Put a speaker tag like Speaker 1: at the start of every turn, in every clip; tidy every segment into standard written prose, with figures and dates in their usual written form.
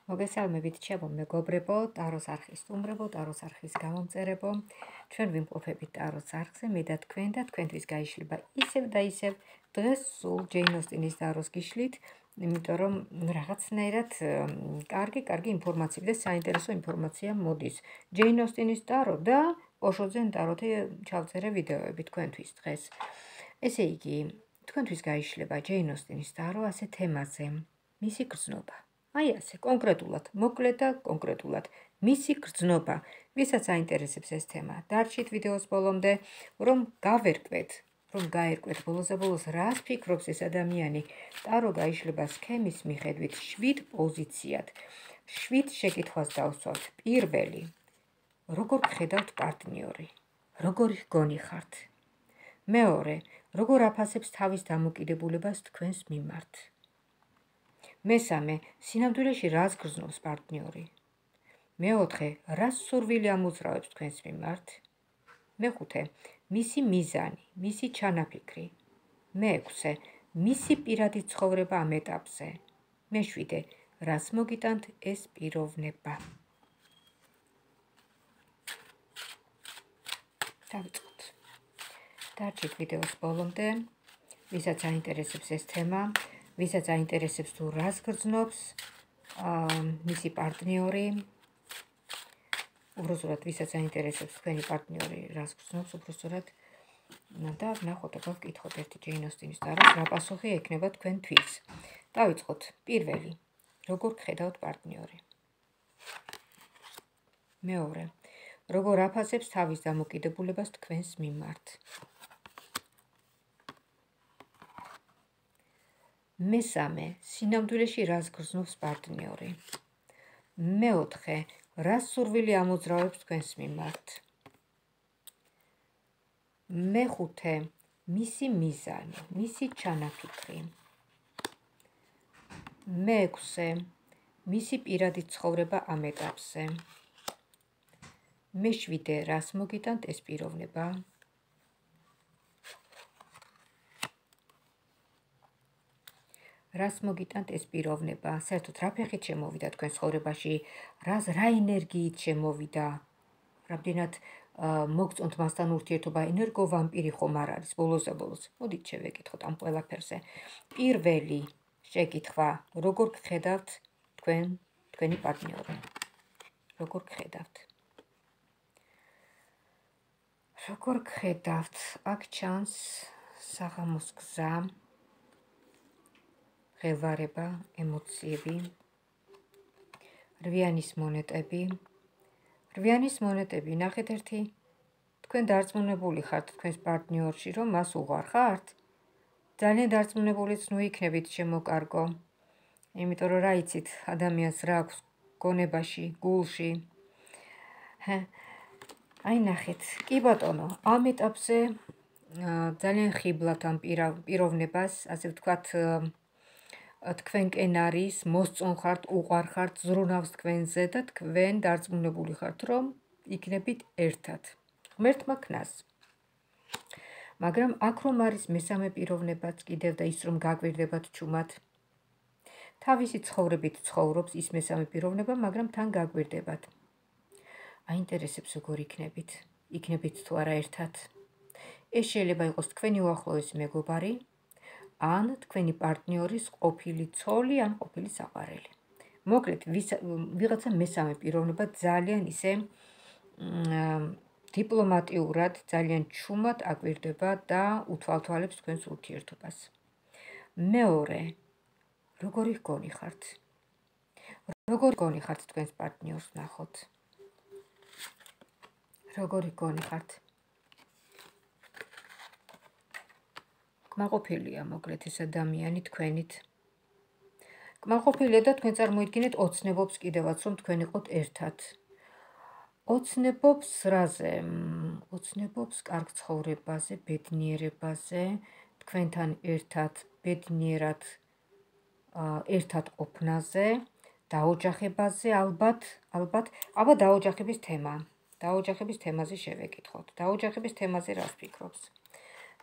Speaker 1: მოგესალმებით ჩემო მეგობრებო, ტაროს არხის სტუმრებო, ტაროს არხის გამომწერებო. ჩვენ ვიმყოფებით ტაროს არხზე, მე და თქვენთვის გაიშლება ისევ და ისევ დღეს სულ ჯეინ ოსტინის ტაროს გიშლით, იმიტომ რომ რაღაცნაირად კარგი ინფორმაცია და საინტერესო ინფორმაცია მოდის. ჯეინ ოსტინის ტარო და ოშოძენ ტაროთი ჩავწერე ვიდეოები თქვენთვის დღეს. ესე იგი, თქვენთვის გაიშლება ჯეინ ოსტინის ტარო ასე თემაზე, მისი გრძნობა. აი ასე, კონკრეტულად, მოკლედ და კონკრეტულად, მისი გრძნობა, ვისაც აინტერესებს ეს თემა, დარჩით ვიდეოს ბოლომდე, რომ გაერკვეთ ბოლოს რას ფიქრობს ეს ადამიანი, ტარო გაიშლება სქემის მიხედვით 7 პოზიციად, 7 შეკითხვას დავსვათ. პირველი, როგორ გხედავთ პარტნიორი, როგორი გონი ხართ? მეორე, როგორ აფასებს თავის დამოკიდებულებას თქვენს მიმართ? მესამე, სინამდვილეში რას გრძნობს პარტნიორი? მეოთხე, რას სურვილი ამოძრავებს თქვენს მიმართ? მეხუთე, მისი მიზანი, მისი ჩანაფიქრი. მეექვსე, მისი პირადი ცხოვრება ამ ეტაპზე. მეშვიდე, რას მოგიტანთ ეს პიროვნება? დავიწყოთ. დარჩით ვიდეოს ბოლომდე, ვისაც აინტერესებს ეს თემა, ვისაც აინტერესებს თუ რას გრძნობს მისი პარტნიორი, უბრალოდ ვისაც აინტერესებს თქვენი პარტნიორი რას გრძნობს, უბრალოდ და ვნახოთ, აბა ვკითხოთ ერთი ჯეინ ოსტინის ტაროს, რა პასუხი ექნება თქვენთვის. დავიწყოთ. პირველი, როგორ გხედავთ პარტნიორი? მეორე, როგორ აფასებს თავის დამოკიდებულებას თქვენს მიმართ? მესამე, სინამდვილეში რას გრძნობს პარტნიორი? მეოთხე, რას სურვილი ამოძრავებს თქვენს მიმართ? მეხუთე, მისი მიზანი, მისი ჩანაფიქრი. მეექვსე, მისი პირადი ცხოვრება ამ ეტაპზე. მეშვიდე, რას მოგიტანთ ეს პიროვნება? რას მოგიტანთ ეს პიროვნება? საერთოდ რა ფეხით შემოვიდა თქვენ ცხოვრებაში? რა ენერგიით შემოვიდა? რამდენად მოგწონთ მასთან ურთიერთობა? ენერგოვამპირი ხომ არ არის ბოლოს? მოდით შევეკითხოთ ამ ყველაფერზე. პირველი შეკითხვა, როგორ გხედავთ თქვენი პარტნიორი? როგორ გხედავთ? როგორ გხედავთ? აქ ჩანს საღამოს გზა, ღელვარება, ემოციები, რვიანის მონეტები, ნახეთ ერთი, თქვენ დარწმუნებული ხართ თქვენს პარტნიორში, რომ მას უყვარ ხართ? ძალიან დარწმუნებულიც ნუ იქნებით შემოკარგო, იმიტომ რომ რა იცით ადამიანს რა აქვს გონებაში, გულში. აი ნახეთ, კი ბატონო, ამ ეტაპზე ძალიან ხიბლად ამ პიროვნებას, ასე ვთქვათ, თქვენკენ არის, მოსწონ ხართ, უყვარ ხართ, ზრუნავს თქვენზე და თქვენ დარწმუნებული ხართ, რომ იქნებით ერთად. ღმერთმა ქნას. მაგრამ აქ რომ არის მესამე პიროვნებაც კიდევ და ის რომ გაგვირდებათ ჩუმად, თავისი ცხოვრებით ცხოვრობს ის მესამე პიროვნება, მაგრამ თან გაგვირდებათ. აინტერესებს როგორ იქნებით თუ არა ერთად. ეს შეიძლება იყოს თქვენი უახლოესი მეგობარი, ან თქვენი პარტნიორის ყოფილი ცოლი, ან ყოფილი საყვარელი. მოკლედ, ვიღაცა მესამე პიროვნება ძალიან ისე დიპლომატიურად, ძალიან ჩუმად აკვირდება და უთვალთვალებს თქვენს ურთიერთობას. მეორე, როგორი გონი ხართ? როგორი გონი ხართ თქვენს პარტნიორს ნახოთ? როგორი გონი ხართ? კმაყოფილია მოკლედ ეს ადამიანი თქვენით. კმაყოფილია და თქვენ წარმოიდგინეთ ოცნებობს კიდევაც, რომ თქვენ იყოთ ერთად. ოცნებობს რაზე? ოცნებობს კარგ ცხოვრებაზე, ბედნიერებაზე, თქვენთან ერთად ბედნიერად ერთად ყოფნაზე, დაოჯახებაზე ალბათ, აბა დაოჯახების თემა. დაოჯახების თემაზე შევეკითხოთ.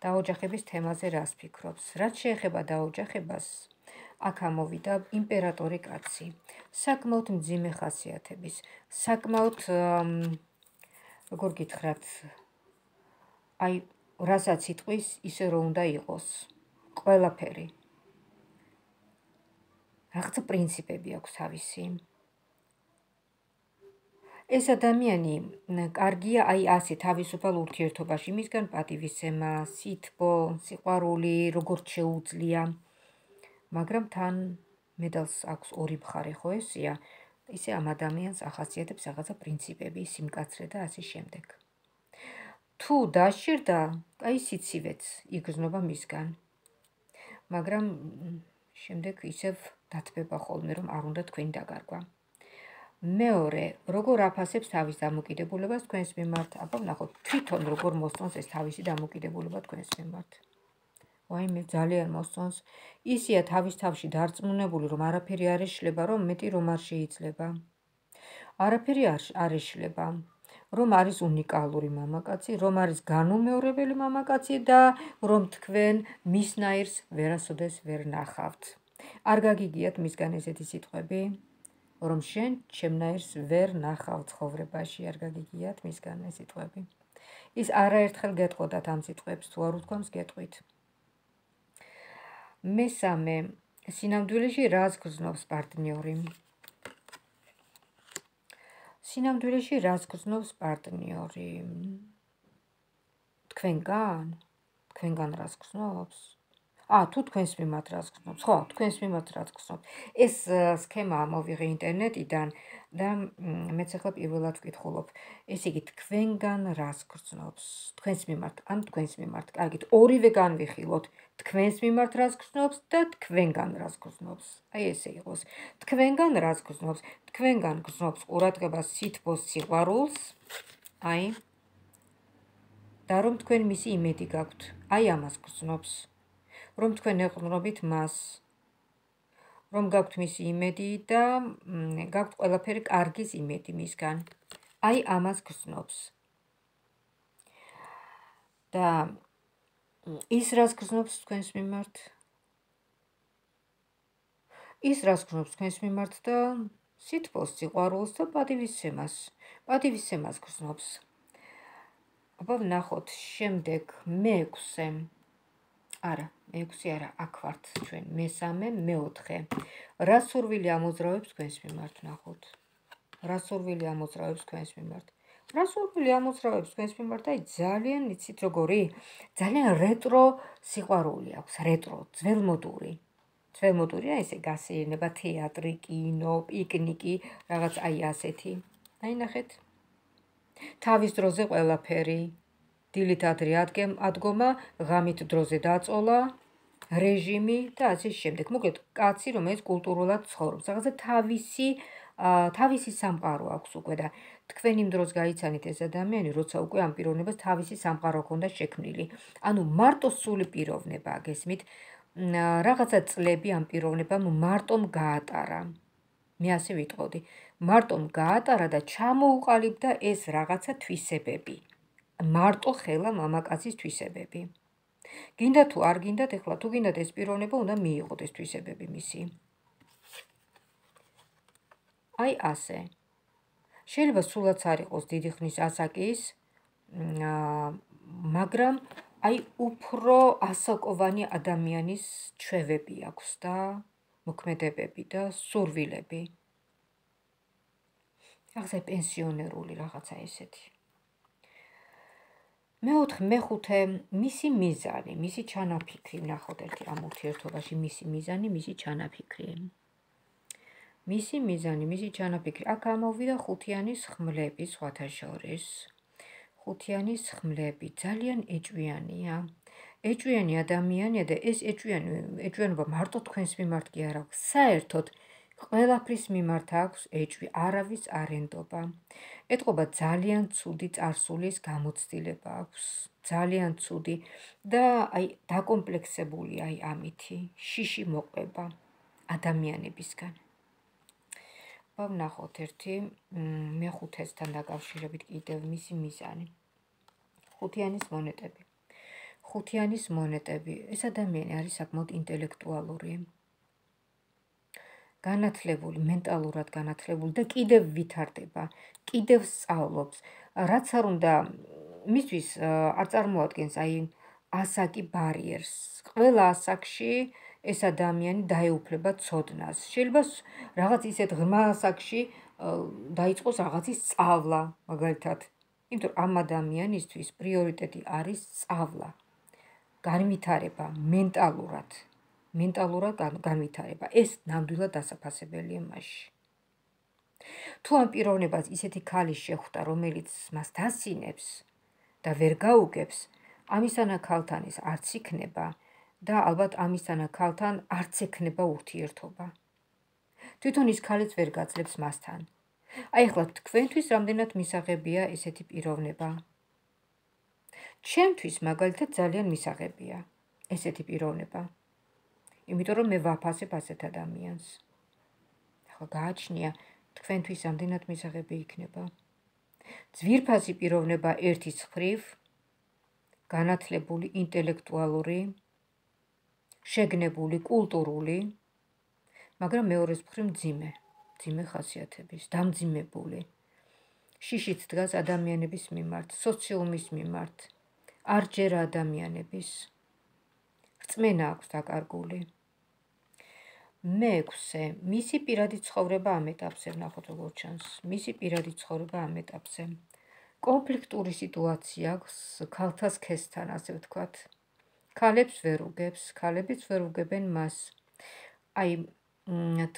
Speaker 1: დაოჯახების თემაზე რას ფიქრობს? რაც შეეხება დაოჯახებას, აქ ამოვიდა იმპერატორი კაცი. საკმაოდ მძიმე ხასიათების, საკმაოდ როგორ გითხრათ, აი რასაც იტყვის, ისე რომ უნდა იყოს. ყველაფერი. რაღაცა პრინციპები აქვს თავისი. ეს ადამიანი კარგია აი ასე თავისუფალ ურთიერთობაში, მისგან პატივისცემა, სითბო, სიყვარული, როგორც შეუძლია. მაგრამ თან მედალს აქვს ორი მხარე, ხო ესია? ისე ამ ადამიანს ახასიათებს რაღაცა პრინციპები, სიმკაცრე და ასე შემდეგ. თუ დასჭირდა, აი სიცივეც იგრძნობა მისგან. მაგრამ შემდეგ ისევ დათბება ხოლმე, რომ არ უნდა თქვენი დაკარგვა. მეორე, როგორ აფასებს თავის დამოკიდებულებას თქვენს მიმართ? აბა ვნახოთ, თვითონ როგორ მოსწონს ეს თავისი დამოკიდებულება თქვენს მიმართ. ვაიმე, ძალიან მოსწონს. ისია თავის თავში დარწმუნებული, რომ არაფერი არ ეშლება, რომ მეტი რომ არ შეიძლება. არაფერი არ ეშლება. რომ არის უნიკალური მამაკაცი, რომ არის განუმეორებელი მამაკაცი და რომ თქვენ მისნაირს ვერასოდეს ვერ ნახავთ. არ გაგიგიათ მისგან ესეთი სიტყვები? რომ შენ ჩემნაირს ვერ ნახავ ცხოვრებაში, არ გაგიგიათ მისგან ეს სიტყვები. ის არაერთხელ გეტყოდათ ამ სიტყვებს, თუ არ უთქვამს გეტყვით. მესამე, სინამდვილეში რას გრძნობს პარტნიორი? სინამდვილეში რას გრძნობს პარტნიორი? თქვენგან რას გრძნობს? თუ თქვენს მიმართ რას გრძნობს? ხო, თქვენს მიმართ რას გრძნობს? ეს სქემა ამოვიღე ინტერნეტიდან და მეც ახლა პირველად ვკითხულობ. ესე იგი, თქვენგან რას გრძნობს? თქვენს მიმართ, ან თქვენს მიმართ. კარგით, ორივე განვიხილოთ. თქვენს მიმართ რას გრძნობს და თქვენგან რას გრძნობს. აი ესე იყოს. თქვენგან რას გრძნობს? თქვენგან გრძნობს ყურადღებას, სითბოს, სიყვარულს. აი და რომ თქვენ მისი იმედი გაქვთ. აი ამას გრძნობს. რომ თქვენ ეყრდნობით მას, რომ გაქვთ მისი იმედი და გაქვთ ყველაფერი კარგის იმედი მისგან. აი ამას გრძნობს. და ის რას გრძნობს თქვენს მიმართ? ის რას გრძნობს თქვენს მიმართ და სითბოს, სიყვარულს და პატივისცემას. პატივისცემას გრძნობს. აბა ვნახოთ, შემდეგ მეექვსე. არა, მეექვსე არა, აქ ვართ ჩვენ, მესამე, მეოთხე. რა სურვილი ამოძრავებს თქვენს მიმართ, ვნახოთ. რა სურვილი ამოძრავებს თქვენს მიმართ? რა სურვილი ამოძრავებს თქვენს მიმართ? აი ძალიან იცით როგორი? ძალიან რეტრო სიყვარული აქვს, რეტრო, ძველმოდური. ძველმოდურია ესე გასეირნება, თეატრი, კინო, პიკნიკი, რაღაც აი ასეთი. აი ნახეთ. თავის დროზე ყველაფერი. დილით ადრე ადგომა, ღამით დროზე დაწოლა, რეჟიმი და ასე შემდეგ. მოკლედ, კაცი, რომელიც კულტურულად ცხოვრობს. რაღაცა თავისი სამყარო აქვს უკვე და თქვენ იმ დროს გაიცანით ეს ადამიანი, როცა უკვე ამ პიროვნებას თავისი სამყარო ჰქონდა შექმნილი. ანუ მარტო სული პიროვნება გესმით, რაღაცა წლები ამ პიროვნებამ მარტომ გაატარა. მე ასე ვიტყოდი. მარტომ გაატარა და ჩამოუყალიბდა ეს რაღაცა თვისებები. მარტო ხელა მამაკაცის თვისებები. გინდა თუ არ გინდათ, ეხლა თუ გინდათ ეს პიროვნება უნდა მიიღოთ ეს თვისებები მისი. აი ასე. შეიძლება სულაც არ იყოს დიდი ხნის ასაკის, მაგრამ აი უფრო ასაკოვანი ადამიანის ჩვევები აქვს და მოქმედებები და სურვილები. რაღაცა პენსიონერული რაღაცა ესეთი. მეხუთე, მისი მიზანი, მისი ჩანაფიქრი, ვნახოთ ერთი ამ ურთიერთობაში მისი მიზანი, მისი ჩანაფიქრი. მისი მიზანი, მისი ჩანაფიქრი. აქ ამოვიდა ხუთიანის ხმლები სხვათა შორის. ხუთიანის ხმლები ძალიან ეჭვიანია. ეჭვიანი ადამიანია და ეს ეჭვიანობა მარტო თქვენს მიმართ კი არ აქვს. საერთოდ ყველაფრის მიმართ აქვს ეჭვი, არავის არ ენდობა. ეტყობა ძალიან ცუდი წარსულის გამოცდილება აქვს. ძალიან ცუდი და აი დაკომპლექსებული აი ამითი, შიში მოყვება ადამიანებისგან. ვნახოთ ერთი მეხუთესთან დაკავშირებით კიდევ მისი მიზანი. ხუთიანის მონეტები. ხუთიანის მონეტები. ეს ადამიანი არის საკმაოდ ინტელექტუალური. განათლებული, მენტალურად განათლებული და კიდევ ვითარდება, კიდევ სწავლობს. რაც არ უნდა მისთვის არ წარმოადგენს აი ასაკი ბარიერს. ყველა ასაკში ეს ადამიანი დაეუფლება ცოდნას. შეიძლება რაღაც ისეთ ღრმა ასაკში დაიწყოს რაღაცის სწავლა, მაგალითად. იმიტომ რომ ამ ადამიანისთვის პრიორიტეტი არის სწავლა, განვითარება, მენტალურად განვითარება. ეს ნამდვილად დასაფასებელია მასში. თუ ამ პიროვნებას ისეთი ქალი შეხვდა, რომელიც მას დასინებს და ვერ გაუგებს, ამისანა ქალთან ის არც იქნება და ალბათ ამისანა ქალთან არც ექნება ურთიერთობა. თვითონ ის ქალიც ვერ გაძლებს მასთან. აი ახლა თქვენთვის რამდენად მისაღებია ესეთი პიროვნება? ჩემთვის მაგალითად ძალიან მისაღებია ესეთი პიროვნება. იმიტომ რომ მე ვაფასებ ასეთ ადამიანს. ახლა გააჩნია თქვენთვის რამდენად მისაღები იქნება. ძვირფასი პიროვნება ერთის მხრივ, განათლებული, ინტელექტუალური, შეგნებული, კულტურული, მაგრამ მეორეს მხრივ მძიმე ხასიათების, დამძიმებული. შიშით დგას ადამიანების მიმართ, სოციუმის მიმართ, არ ჯერა ადამიანების. რწმენა აქვს დაკარგული. მე-6 მისი პირადი ცხოვრება ამ ეტაპზე, ნახოთ როგორ ჩანს. მისი პირადი ცხოვრება ამ ეტაპზე. კონფლიქტური სიტუაცია აქვს ქალთა სქესთან, ასე ვთქვათ. ქალებს ვერ უგებს, ქალებიც ვერ უგებენ მას. აი,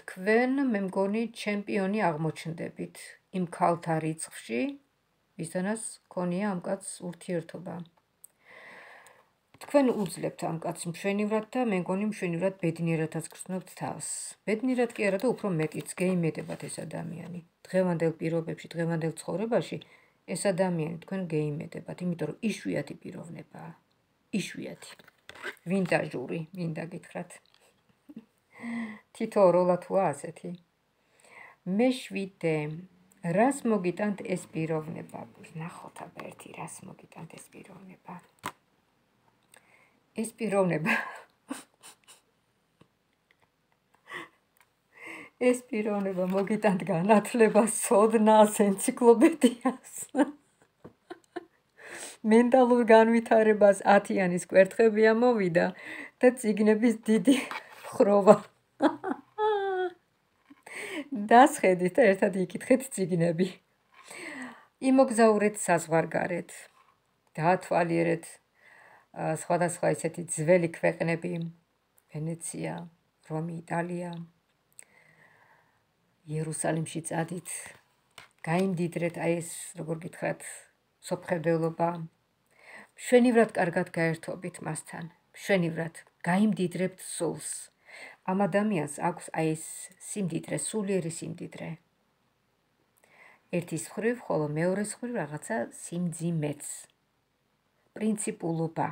Speaker 1: თქვენ, მე მგონი, ჩემპიონი აღმოჩნდებით იმ ქალთა რიცხვში, ვისთანაც ქონია ამ კაცს ურთიერთობა. თქვენ უძლებთ ამ კაცს მშვენივრად და მე მგონი მშვენივრად ბედნიერადაც გრძნობთ თავს. ბედნიერად კი არა და უფრო მეტიც გეიმედებათ ეს ადამიანი. დღევანდელ პირობებში, დღევანდელ ცხოვრებაში ეს ადამიანი თქვენ გეიმედებათ, იმიტომ რომ იშვიათი პიროვნებაა. იშვიათი. ვინტაჟური, მინდა გითხრათ. თითო როლა თუა ასეთი. მე-7 რას მოგიტანთ ეს პიროვნება? ნახოთ აბა ერთი რას მოგიტანთ ეს პიროვნება. ეს პიროვნება მოგიტანთ განათლებას, ცოდნას, ენციკლოპედიას. მენტალურ განვითარებას 10-იანის კვერთხები ამოვიდა და წიგნების დიდი ხროვა. დასხედით და ერთად იკითხეთ წიგნები. იმოგზაურეთ საზღვარგარეთ, დაათვალიერეთ სხვადასხვა ისეთი ძველი ქვეყნები, ვენეცია, რომი, იტალია, იერუსალიმში წადით, გაიმდიდრეთ, აი ეს როგორ გითხრათ, სოფხედელობა, მშვენივრად კარგად გაერთობით მასთან, მშვენივრად გაიმდიდრებთ სულს. ამ ადამიანს აქვს აი ეს სიმდიდრე, სულიერი სიმდიდრე. ერთის მხრივ, ხოლო მეორეს მხრივ რაღაცა სიმძიმეც. პრინციპულობა.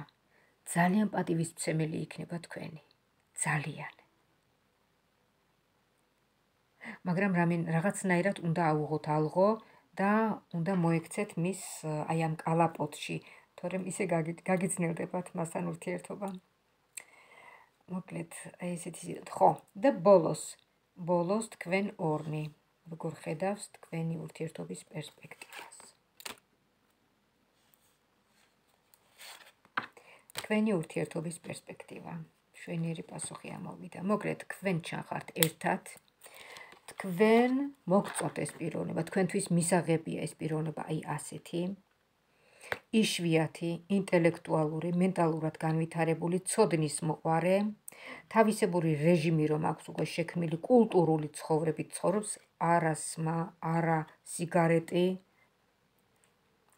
Speaker 1: ძალიან პატივისმცემელი იქნება თქვენი. ძალიან. მაგრამ რაღაცნაირად უნდა აუღოთ ალღო და უნდა მოექცეთ მის აი ამ კალაპოტში, თორემ ისე გაგიძნელდებათ მასთან ურთიერთობა. მოკლედ, აი ესეთი, ხო, და ბოლოს თქვენ ორნი, როგორ ხედავს თქვენი ურთიერთობის პერსპექტივას. თქვენი ურთიერთობის პერსპექტივა. მშვენიერი პასუხი ამოვიდა. მოკლედ, თქვენ ჩახართ ერთად. თქვენ მოგწონთ ეს პიროვნება, თქვენთვის მისაღებია ეს პიროვნება, აი ასეთი. იშვიათი, ინტელექტუალური, მენტალურად განვითარებული, ცოდნის მოყვარე, თავისებური რეჟიმი რომ აქვს უკვე შექმნილი, კულტურული ცხოვრებით ცხოვრობს, არა სმა, არა სიგარეტი,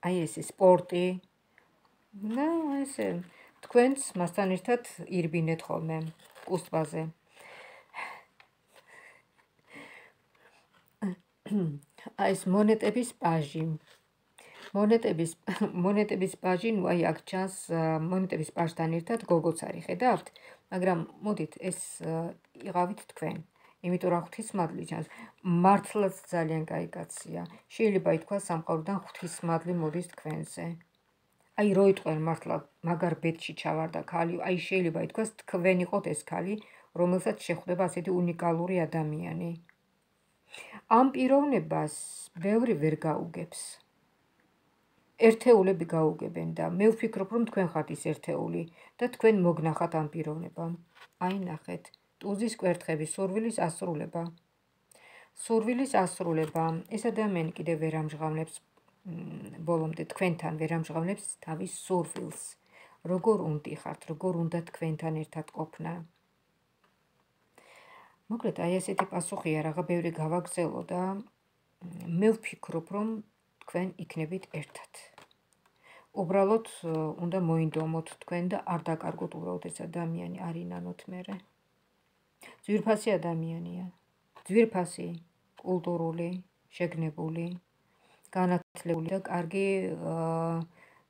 Speaker 1: აი ესე სპორტი. და ესე თქვენც მასთან ერთად ირბინეთ ხოლმე კუსტბაზე. აი ეს მონეტების პაჟი. მონეტების პაჟი, ნუ აი აქ ჩანს მონეტების პაჟთან ერთად გოგოც არის, ხედავთ? მაგრამ მოდით ეს იყავით თქვენ. იმიტომ რომ ღვთისმადლი ჩანს, მართლაც ძალიან კაი კაცია. შეიძლება ითქვას სამყაროდან ღვთისმადლი მოდის თქვენზე. აი რო იტყვენ მართლა მაგარ ბედში ჩავარდა ქალი, აი შეიძლება ითქვას თქვენ იყოთ ეს ქალი, რომელსაც შეხვდება ასეთი უნიკალური ადამიანი. ამ პიროვნებას ბევრი ვერ გაუგებს. ერთეულები გაუგებენ და მე ვფიქრობ, რომ თქვენ ხართ ის ერთეული და თქვენ მოგნახათ ამ პიროვნებამ. აი ნახეთ, ტუზის კვერთხების სურვილის ასრულება. სურვილის ასრულება. ეს ადამიანი კიდევ ვერ ამჟღავნებს ბოლომდე თქვენთან ვერ ამჟღავნებს თავის სურვილს. როგორ უნდიხართ, როგორ უნდა თქვენთან ერთად ყოფნა. მოკლედ, აი ესეთი პასუხია, რაღა ბევრი გავაგზელო და მე ვფიქრობ, რომ თქვენ იქნებით ერთად. უბრალოდ უნდა მოინდომოთ თქვენ და არ დაკარგოთ უბრალოდ ეს ადამიანი, არ ინანოთ მერე. ძვირფასი ადამიანია. ძვირფასი, კულტურული, შეგნებული, განათლებული და კარგი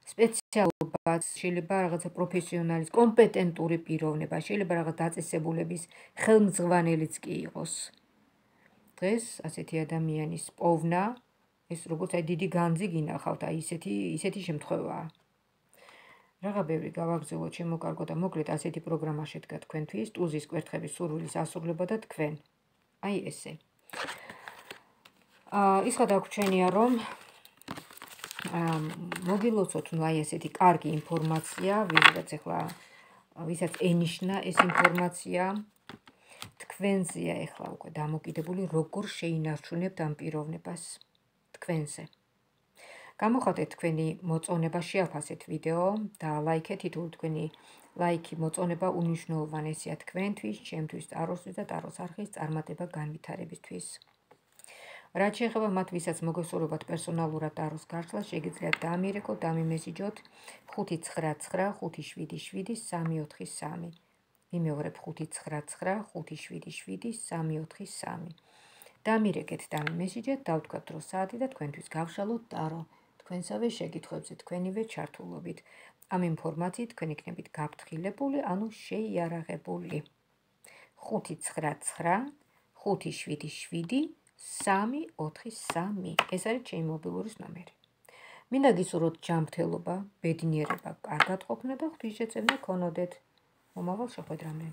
Speaker 1: სპეციალობაც, შეიძლება რაღაცა პროფესიონალის, კომპეტენტური პიროვნება, შეიძლება რაღაც დაწესებულების ხელმძღვანელიც კი იყოს. დღეს ასეთი ადამიანის პოვნა, ეს როგორც აი დიდი განძი გინახავთ, აი ისეთი შემთხვევაა. რაღა ბევრი გავაგზავნოთ ჩემო კარგო და მოკლედ ასეთი პროგრამა შედგა თქვენთვის, ტუზის კვერთხების სურვილის ასრულება და თქვენ. აი ესე. ის გადაგვრჩენია, რომ მოგილოცოთ აი ესეთი კარგი ინფორმაცია, ვისაც ენიშნა ეს ინფორმაცია, თქვენზეა ეხლა უკვე დამოკიდებული, როგორ შეინარჩუნებთ ამ პიროვნებას თქვენზე. გამოხატეთ თქვენი მოწონება, შეაფასეთ ვიდეო და ლაიქეთ, თითოეული თქვენი ლაიქი, მოწონება უნიშნულოვანესია თქვენთვის, ჩემთვის, ტაროსთვის და ტაროს არხის წარმატება განვითარებისთვის. რაც შეეხება მათ, ვისაც მოგესურვებათ პერსონალურად ტაროს გართლა, შეგიძლიათ დაამირეკოთ, დამიმესიჯოთ 599577343. ვიმეორებ 599577343. დამირეკეთ, დამიმესიჯეთ, დავთქვათ დრო საათი და თქვენთვის გავშალოთ ტარო. თქვენსავე შეკითხვებზე თქვენივე ჩართულობით. ამ ინფორმაციით თქვენ იქნებით გაფრთხილებული, ანუ შეიარაღებული. 599577343. ეს არის ჩემი მობილურის ნომერი. მინდა გისურვოთ ჯანმრთელობა, ბედნიერება, კარგად ყოფნა და ღვთისმშეწევნა ქონოდეთ. მომავალ შეხვედრამდე.